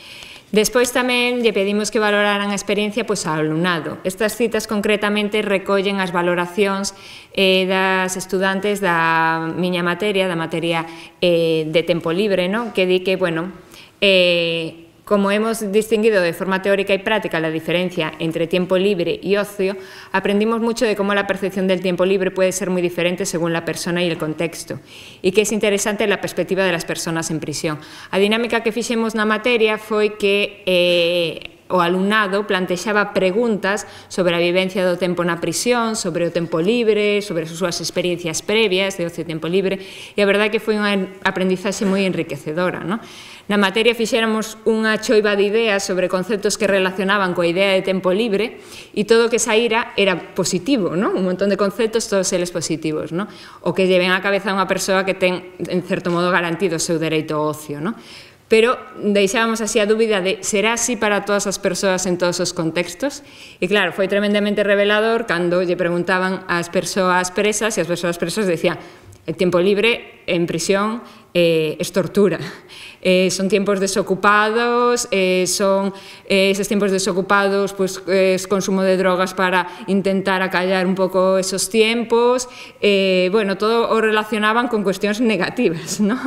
Despois tamén lle pedimos que valoraran a experiencia pois, ao alumnado. Estas citas concretamente recollen as valoracións eh, das estudantes da miña materia, da materia eh, de tempo libre, no? Que di que, bueno, eh, como hemos distinguido de forma teórica y práctica la diferencia entre tiempo libre y ocio, aprendimos mucho de cómo la percepción del tiempo libre puede ser muy diferente según la persona y el contexto, y que es interesante la perspectiva de las personas en prisión. A dinámica que fixemos na materia foi que eh, o alumnado plantexaba preguntas sobre a vivencia do tempo na prisión, sobre o tempo libre, sobre as súas experiencias previas de ocio e tempo libre, e a verdade é que foi unha aprendizaxe moi enriquecedora, non? Na materia fixéramos unha choiva de ideas sobre conceptos que relacionaban coa idea de tempo libre e todo o que saíra era positivo, non? Un montón de conceptos, todos eles positivos, non? O que lle ven á cabeza a unha persoa que ten, en certo modo, garantido o seu dereito ao ocio, non? Pero deixábamos así a dúbida de será así para todas as persoas en todos os contextos? E claro, foi tremendamente revelador cando lle preguntaban ás persoas presas e as persoas presas decían el tiempo libre en prisión eh, es tortura. Eh, son tiempos desocupados, eh, son eh, esos tiempos desocupados, pues es consumo de drogas para intentar acallar un pouco esos tiempos, eh, bueno, todo o relacionaban con cuestións negativas, ¿no?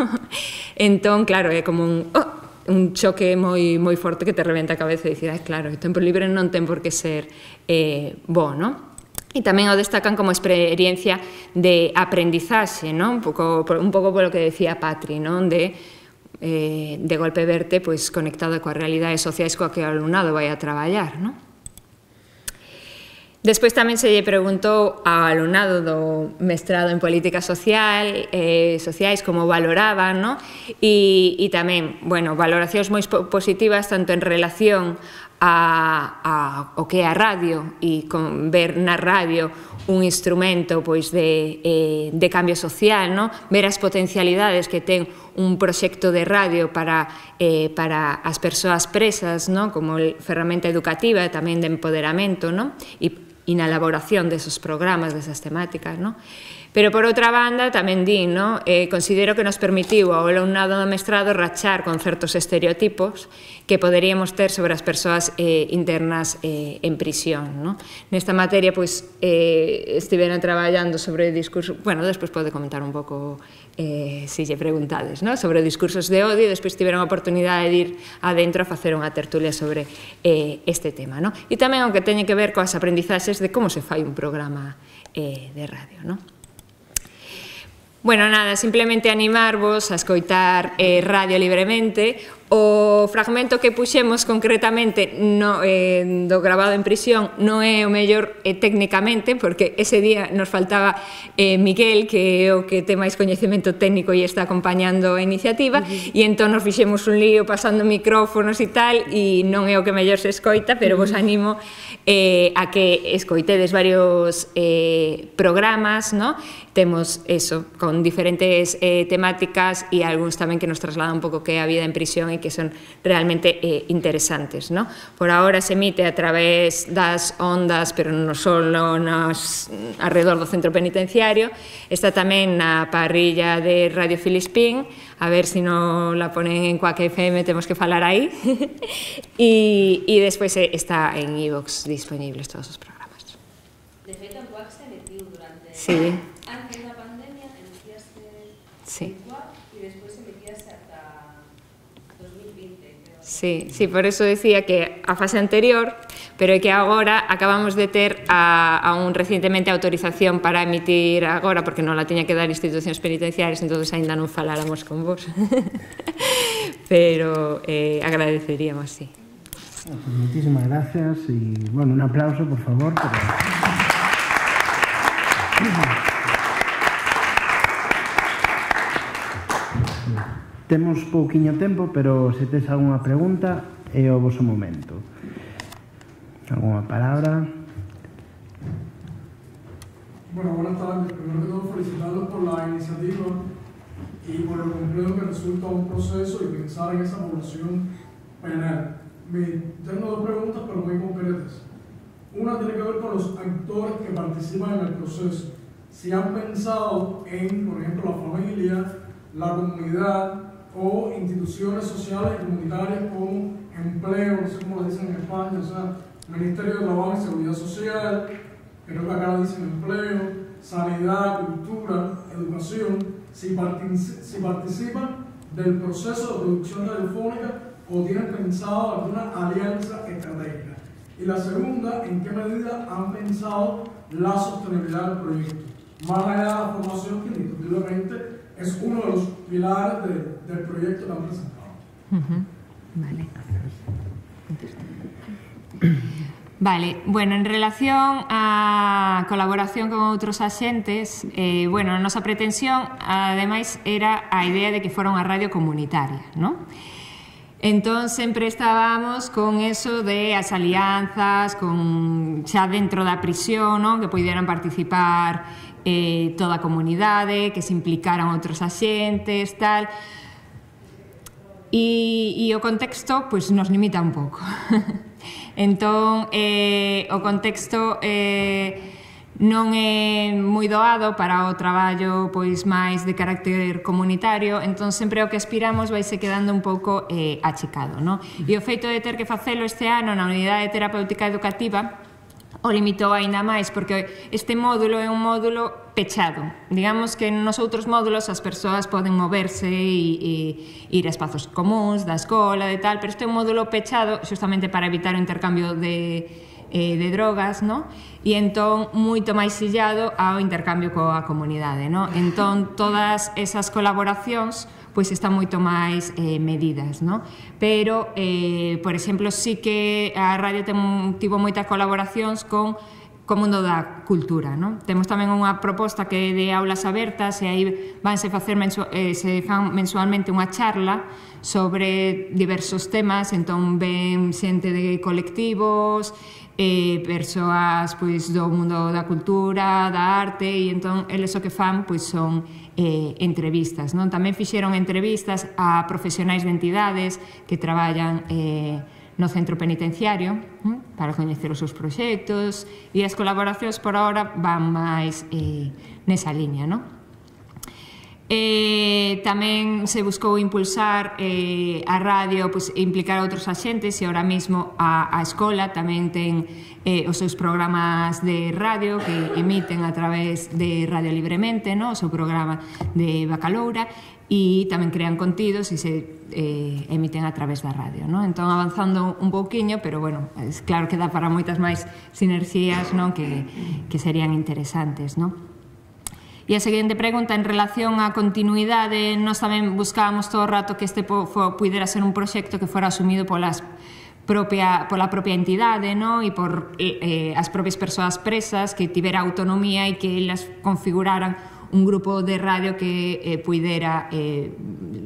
Entón, claro, é como un, oh, un choque moi, moi forte que te reventa a cabeza e dicir, ah, claro, o tempo libre non ten por que ser eh, bo, ¿no? E tamén o destacan como experiencia de aprendizaxe, ¿no? Un pouco, un pouco polo que decía Patri, ¿no? De Eh, de golpe verte pois, conectado coas realidades sociais coa que o alumnado vai a traballar, non? Despois tamén se lle preguntou ao alumnado do mestrado en política social, eh, sociais como valoraban, non? E, e tamén, bueno, valoracións moi positivas tanto en relación a, a o que é a radio e con ver na radio un instrumento pois de, eh, de cambio social, no? Ver as potencialidades que ten un proxecto de radio para, eh, para as persoas presas, no? Como ferramenta educativa e tamén de empoderamento, no? E, e na elaboración desos programas, desas temáticas, no? Pero, por outra banda, tamén din, no? Eh, considero que nos permitiu ao alumnado do mestrado rachar con certos estereotipos que poderíamos ter sobre as persoas eh, internas eh, en prisión, no? Nesta materia, pois, eh, estiveran traballando sobre discurso... Bueno, despois pode comentar un pouco, eh, se lle preguntades, no? Sobre discursos de odio, e despois tiveron a oportunidade de ir adentro a facer unha tertulia sobre eh, este tema, no? E tamén o que teñe que ver coas aprendizaxes de como se fai un programa eh, de radio, no? Bueno, nada, simplemente animarvos a escoitar eh, Radio Libremente. O fragmento que puxemos concretamente no, eh, do grabado en prisión non é o mellor eh, técnicamente, porque ese día nos faltaba eh, Miguel, que é o que ten máis coñecemento técnico e está acompañando a iniciativa, uh-huh. E entón nos fixemos un lío pasando micrófonos e tal, e non é o que mellor se escoita, pero uh-huh. Vos animo eh, a que escoitedes varios eh, programas, ¿no? Temos eso, con diferentes eh, temáticas e algúns tamén que nos trasladan un pouco que é a vida en prisión e que son realmente eh, interesantes, ¿no? Por ahora se emite a través das ondas, pero non solo nas, alrededor do centro penitenciario, está tamén na parrilla de Radio Filispín, a ver se si non la ponen en Quack F M, temos que falar aí, e, e despois está en iVox disponibles todos os programas. De feito, en Quack se emitiu durante... Sí. Antes da pandemia, emitíase sí. en Quack e despois emitíase ata dos mil vinte. Sí, sí, por eso decía que a fase anterior, pero é que agora acabamos de ter a, a un recientemente autorización para emitir agora, porque non la tiña que dar institucións penitenciarias, entonces ainda non faláramos con vos. Pero eh, agradeceríamos, sí. Pues muchísimas gracias y, bueno, un aplauso, por favor. Pero... Temos pouquiño tempo, pero se tes algunha pregunta é o voso momento. Alguna palabra? Bueno, buenas tardes. Primero que todo, felicitarlos por la iniciativa y por el complejo que resulta un proceso y pensar en esa población penal. Tengo dos preguntas, pero muy concretas. Una tiene que ver con los actores que participan en el proceso. Si han pensado en, por ejemplo, la familia, la comunidad o instituciones sociales y comunitarias como empleo, no sé cómo le dicen en España, o sea, Ministerio de Trabajo y Seguridad Social, creo que acá le dicen empleo, sanidad, cultura, educación, si, partic si participan del proceso de producción radiofónica o tienen pensado alguna alianza estratégica. Y la segunda, ¿en qué medida han pensado la sostenibilidad del proyecto? Más allá de la formación, que indiscutiblemente es uno de los pilares de, del proyecto que han presentado. Uh-huh. Vale. Vale, bueno, en relación á colaboración con outros axentes, eh, bueno, a nosa pretensión, ademais, era a idea de que fora unha radio comunitaria, non? Entón, sempre estábamos con eso de as alianzas, con xa dentro da prisión, non? Que puderan participar eh, toda a comunidade, que se implicaran outros axentes, tal. E, e o contexto, pois, nos limita un pouco. Entón, eh, o contexto eh, non é moi doado para o traballo pois máis de carácter comunitario, entón sempre o que aspiramos vai se quedando un pouco eh, achicado, non? E o feito de ter que facelo este ano na Unidade Terapéutica Educativa o limitou aínda máis, porque este módulo é un módulo pechado. Digamos que nos outros módulos as persoas poden moverse e, e ir a espazos comuns da escola e tal, pero este é un módulo pechado xustamente para evitar o intercambio de, eh, de drogas, no? E entón moito máis illado ao intercambio coa comunidade, no? Entón todas esas colaboracións pois están moito máis eh, medidas, no? Pero, eh, por exemplo, sí que a radio ten, tivo moitas colaboracións con co mundo da cultura, non? Temos tamén unha proposta que é de aulas abertas e aí vanse facer mensu eh, se fan mensualmente unha charla sobre diversos temas, entón ven xente de colectivos, eh, persoas pois, do mundo da cultura, da arte, e entón eles o que fan pois, son eh, entrevistas, non? Tamén fixeron entrevistas a profesionais de entidades que traballan eh, no centro penitenciario, eh, para coñecer os seus proxectos, e as colaboracións por ahora van máis eh, nesa liña, non? Eh, tamén se buscou impulsar eh, a radio, pues, implicar a outros axentes, e ahora mismo a, a escola tamén ten eh, os seus programas de radio que emiten a través de Radio Libremente, no? O seu programa de Bacaloura, e tamén crean contidos e se eh, emiten a través da radio, no? Entón avanzando un pouquiño, pero bueno, es claro que dá para moitas máis sinerxías, no? que, que serían interesantes, no? E a seguinte pregunta, en relación á continuidade, nós tamén buscábamos todo o rato que este pudera ser un proxecto que fora asumido polas propia, pola propia entidade, no? E por eh, as propias persoas presas, que tivera autonomía e que elas configuraran un grupo de radio que eh, pudera eh,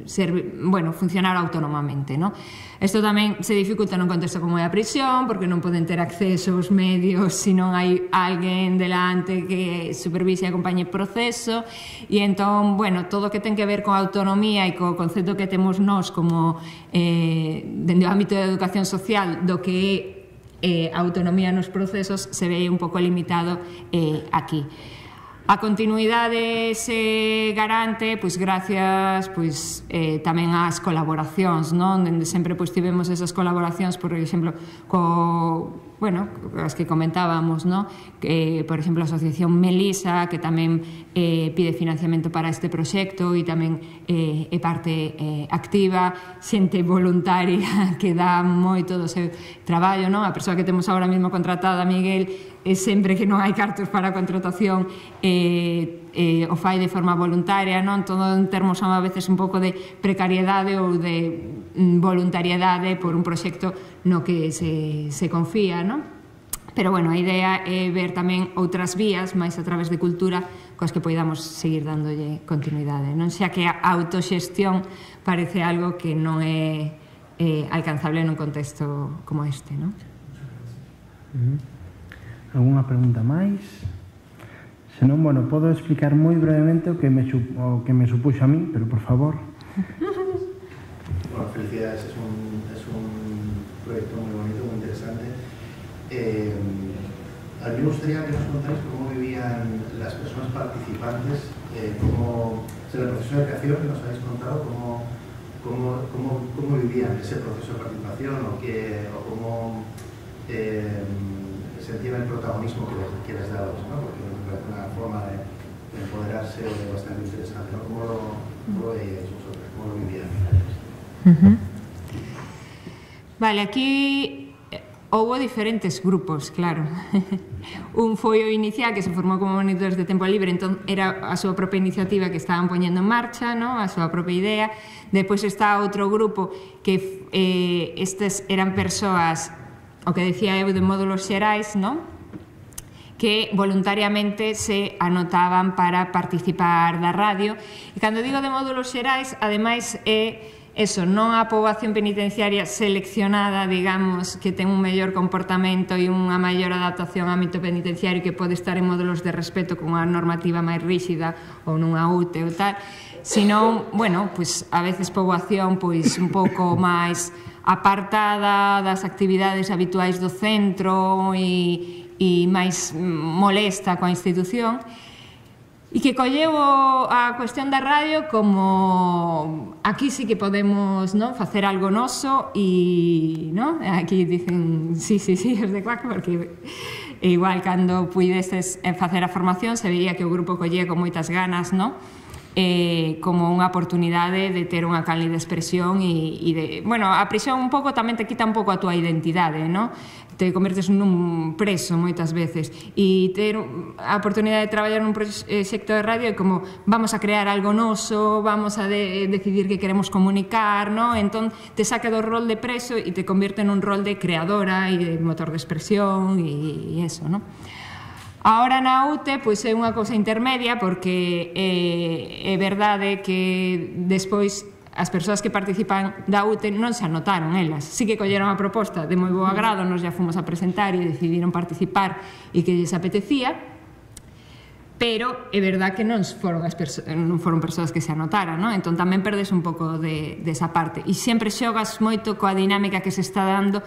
ser, bueno, funcionar autónomamente, no? Isto tamén se dificulta nun contexto como é a prisión, porque non poden ter acceso aos medios se non hai alguén delante que supervise e acompañe o proceso, e entón, bueno, todo o que ten que ver con a autonomía e co concepto que temos nós como eh, dende o ámbito da educación social do que é eh, a autonomía nos procesos se ve un pouco limitado eh, aquí. A continuidade se garante pois gracias pois eh, tamén ás colaboracións, non? Dende sempre pois tivemos esas colaboracións, por exemplo, co bueno, as que comentábamos, non? Que, por exemplo, a Asociación Melisa, que tamén eh, pide financiamento para este proxecto e tamén eh, é parte eh, activa, xente voluntaria que dá moito do seu traballo, non? A persoa que temos agora mesmo contratada, Miguel, é sempre que non hai cartos para a contratación, eh, eh, o fai de forma voluntaria, non? Todo en termos a veces un pouco de precariedade ou de mm, voluntariedade por un proxecto no que se, se confía, non? Pero, bueno, a idea é ver tamén outras vías, máis a través de cultura, coas que poidamos seguir dándolle continuidade, non? Xa que a autoxestión parece algo que non é eh, alcanzable nun contexto como este, non? Uh-huh. Alguna pregunta máis? Se non, bueno, podo explicar moi brevemente o que me, o que me supuxo a mí, pero por favor. Bueno, felicidades, es un, es un proyecto muy bonito, muy interesante. Eh, a mí me gustaría que nos contáis cómo vivían las personas participantes, eh, cómo, en el proceso de creación que nos habéis contado, cómo ¿cómo, cómo, cómo vivían ese proceso de participación o, qué, o cómo eh, sentían el protagonismo que les, que les dabas, ¿no? Porque me parece una forma de, de empoderarse bastante interesante, ¿no? ¿Cómo lo, cómo lo veíais vosotros? ¿Cómo lo vivían? Uh-huh. Vale, aquí houbo diferentes grupos, claro. Un foi o inicial que se formou como monitores de tempo libre, entón era a súa propia iniciativa que estaban poñendo en marcha, no? A súa propia idea. Depois está outro grupo que eh, estes eran persoas, o que decía eu, de módulos xerais, no? Que voluntariamente se anotaban para participar da radio. E cando digo de módulos xerais, ademais é eso, non a poboación penitenciaria seleccionada, digamos, que ten un mellor comportamento e unha maior adaptación ao ámbito penitenciario que pode estar en módulos de respeto con unha normativa máis ríxida ou nunha U T E ou tal, sino, bueno, pues a veces poboación pois un pouco máis apartada das actividades habituais do centro e, e máis molesta coa institución, e que colleu a cuestión da radio como aquí sí que podemos, ¿no?, facer algo noso e, ¿no?, aquí dicen sí, sí, sí, os de Cuac, porque igual cando puidestes facer a formación se veía que o grupo collía con moitas ganas, ¿no?, eh, como unha oportunidade de ter unha canle de expresión e, e de, bueno, a prisión un pouco tamén te quita un pouco a túa identidade, ¿no?, te convertes nun preso moitas veces, e ter a oportunidade de traballar nun proxecto de radio é como vamos a crear algo noso, vamos a de, decidir que queremos comunicar, ¿no? Entón te saca do rol de preso e te convierte nun rol de creadora e de motor de expresión e, e eso, ¿no? Ahora na U T E pois é unha cousa intermedia porque é, é verdade que despois as persoas que participan da U T E non se anotaron elas, sí que colleron a proposta de moi bo agrado, nos ya fomos a presentar e decidiron participar e que lles apetecía, pero é verdad que non foron, as non foron persoas que se anotaran, non? Entón tamén perdes un pouco de, desa parte e sempre xogas moito coa dinámica que se está dando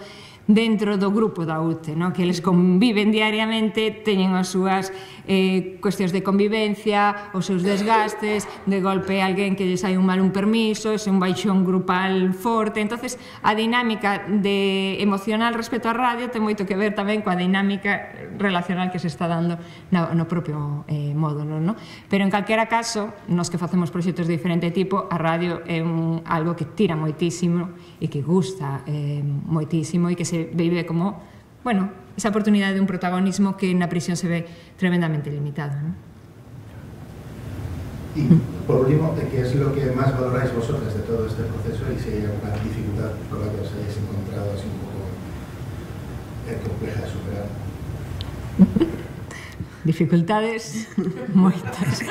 dentro do grupo da U T E, no? Que eles conviven diariamente, teñen as súas eh, cuestións de convivencia, os seus desgastes, de golpe alguén que lle sai un mal un permiso, ese un baixón grupal forte, entonces a dinámica de emocional respecto á radio ten moito que ver tamén coa dinámica relacional que se está dando no, no propio eh, módulo, no? Pero en calquera caso, nos que facemos proxectos de diferente tipo, a radio é un, algo que tira moitísimo e que gusta eh, moitísimo e que se vive como, bueno, esa oportunidade de un protagonismo que na prisión se ve tremendamente limitado, ¿no? Y por último, ¿qué es lo que más valoráis vosotros de todo este proceso y si hay alguna dificultad por la que os hayáis encontrado así un poco eh, compleja de superar? Dificultades moitas.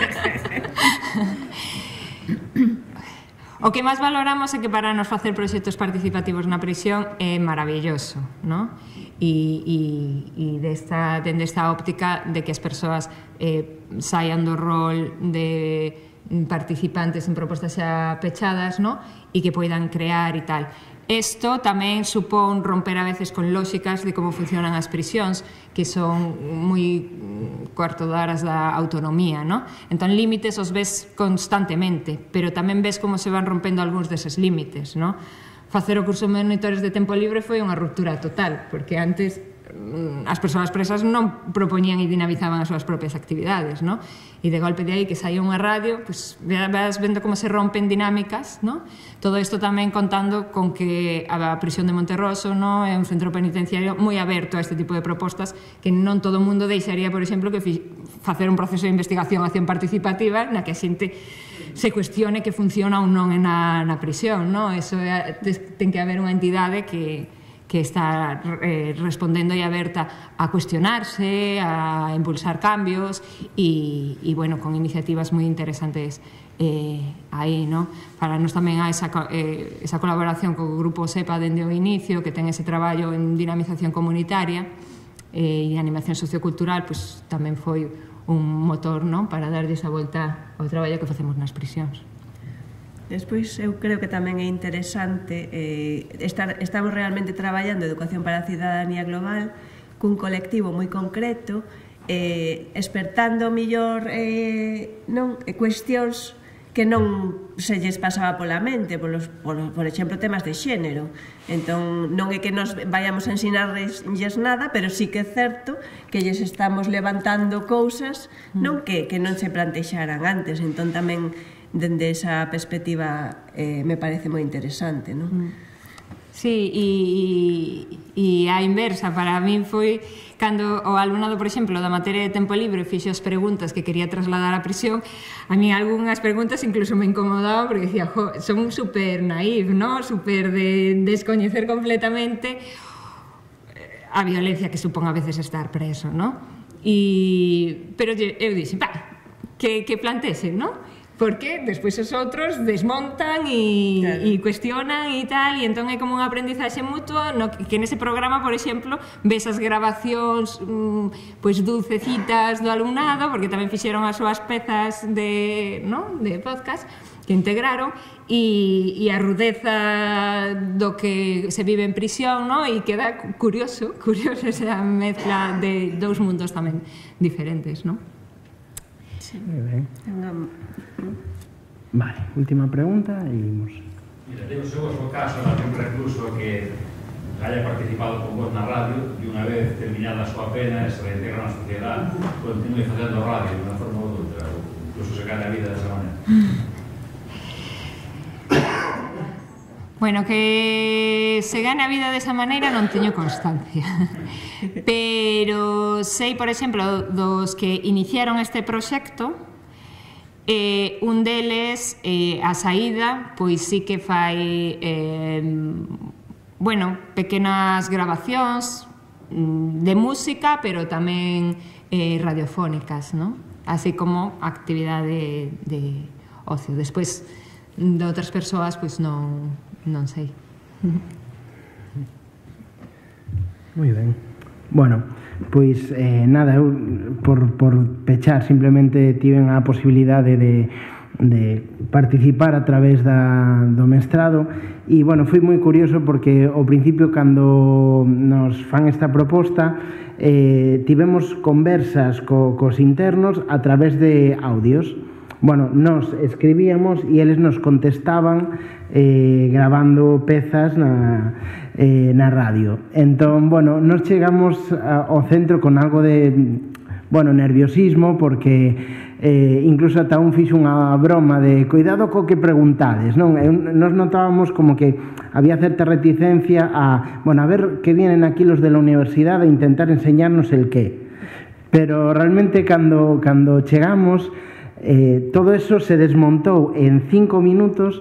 O que máis valoramos é que para nos facer proxectos participativos na prisión é maravilloso, ¿no? E, e, e desta, dende esta óptica de que as persoas eh, saian do rol de participantes en propostas xa pechadas, ¿no? E que poidan crear e tal. Isto tamén supón romper a veces con lóxicas de como funcionan as prisións, que son moi cuarto de horas da autonomía, ¿no? Entón, límites os ves constantemente, pero tamén ves como se van rompendo algúns deses límites, ¿no? Facer o curso de monitores de tempo libre foi unha ruptura total, porque antes as persoas presas non propoñían e dinamizaban as súas propias actividades, ¿no? E de golpe de aí que saía unha radio, pues vas vendo como se rompen dinámicas, ¿no? Todo isto tamén contando con que a prisión de Monterroso, ¿no?, é un centro penitenciario moi aberto a este tipo de propostas que non todo o mundo deixaría, por exemplo, que facer un proceso de investigación acción participativa na que a xente se cuestione que funciona ou non na, na prisión, ¿no? Eso é, ten que haber unha entidade que que está eh, respondendo e aberta a cuestionarse, a impulsar cambios e, e bueno, con iniciativas moi interesantes eh, aí, ¿no? Para nos tamén hai esa, eh, esa colaboración co grupo SEPA dende o inicio, que ten ese traballo en dinamización comunitaria eh, e animación sociocultural, pues tamén foi un motor, ¿no?, para darlle esa volta ao traballo que facemos nas prisións. Despois, eu creo que tamén é interesante eh, estar, estamos realmente traballando educación para a cidadanía global cun colectivo moi concreto, eh, espertando mellor eh, non, cuestións que non se lles pasaba pola mente, por, los, por, por exemplo, temas de xénero. Entón, non é que nos vayamos a ensinarles nada, pero sí que é certo que lles estamos levantando cousas non que, que non se plantexaran antes. Entón, tamén, dende esa perspectiva, eh, me parece moi interesante, non? Sí, e, e a inversa para min foi cando o alumnado, por exemplo, da materia de tempo libre fixo as preguntas que quería trasladar á prisión. A mí algunhas preguntas incluso me incomodaban porque decía, jo, son super naif, ¿no? Super de descoñecer completamente a violencia que supón a veces estar preso, ¿no? E, pero eu dixen, pa, que, que plantesen, ¿no? Porque despois os outros desmontan e, claro. e cuestionan e tal, e entón é como un aprendizaxe mutuo no, que nese programa, por exemplo, ves as grabacións mmm, pois dulcecitas do alumnado, porque tamén fixeron as súas pezas de, no? de podcast que integraron, e, e a rudeza do que se vive en prisión, no? E queda curioso, curioso esa mezcla de dous mundos tamén diferentes, non? Muy bien. Vale, última pregunta e imos. Mira, digo, según o seu caso, algún recluso que haya participado con vos na radio e unha vez terminada a súa pena e se reintegra na sociedade, continue facendo radio de unha forma ou outra, ou incluso se gane a vida desa maneira. Bueno, que se gane a vida desa maneira non teño constancia. Pero sei, por exemplo, dos que iniciaron este proxecto, eh, un deles, eh, a saída, pois sí que fai eh, bueno, pequenas grabacións de música, pero tamén eh, radiofónicas, ¿no? Así como actividade de, de ocio. Despois, de outras persoas, pois non, non sei. Moi ben. Bueno, pois eh, nada, eu por, por pechar simplemente tiven a posibilidade de, de participar a través da, do mestrado e, bueno, foi moi curioso porque ao principio cando nos fan esta proposta eh, tivemos conversas co, cos internos a través de audios. Bueno, nos escribíamos e eles nos contestaban eh, grabando pezas na, eh, na radio. Entón, bueno, nos chegamos a, ao centro con algo de, bueno, nerviosismo, porque eh, incluso ata un fixo unha broma de cuidado co que preguntades, non? E nos notábamos como que había certa reticencia a, bueno, a ver que vienen aquí los de la universidade a intentar enseñarnos el qué. Pero realmente cando, cando chegamos, Eh, todo eso se desmontou en cinco minutos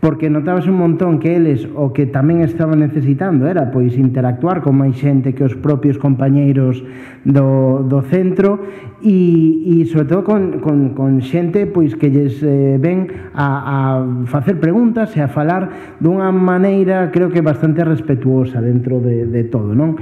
porque notabas un montón que eles o que tamén estaban necesitando era pois interactuar con máis xente que os propios compañeiros do, do centro e, e sobre todo con, con, con xente pois que lles eh, ven a, a facer preguntas e a falar dunha maneira creo que bastante respetuosa dentro de, de todo, non?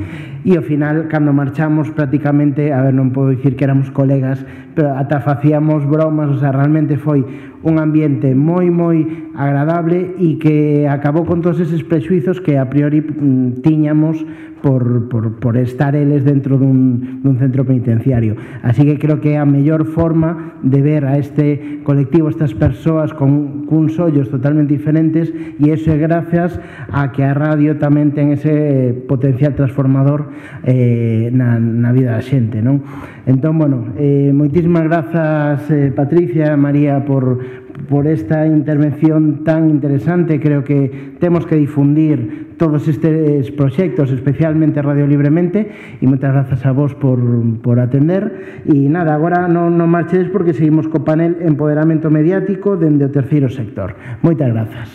E ao final, cando marchamos prácticamente, a ver, non podo dicir que éramos colegas, pero ata facíamos bromas, o sea, realmente foi un ambiente moi, moi agradable e que acabou con todos eses prexuizos que a priori mm, tiñamos por, por, por estar eles dentro dun, dun centro penitenciario. Así que creo que é a mellor forma de ver a este colectivo, estas persoas con cuns ollos totalmente diferentes, e iso é gracias a que a radio tamén ten ese potencial transformador eh, na, na vida da xente, non? Entón, bueno, eh, moitísimas grazas, eh, Patricia, María, por, por esta intervención tan interesante. Creo que temos que difundir todos estes proxectos, especialmente Radio Libremente, e moitas grazas a vos por, por atender. E nada, agora non, non marchedes porque seguimos co panel Empoderamento Mediático dende o terceiro sector. Moitas grazas.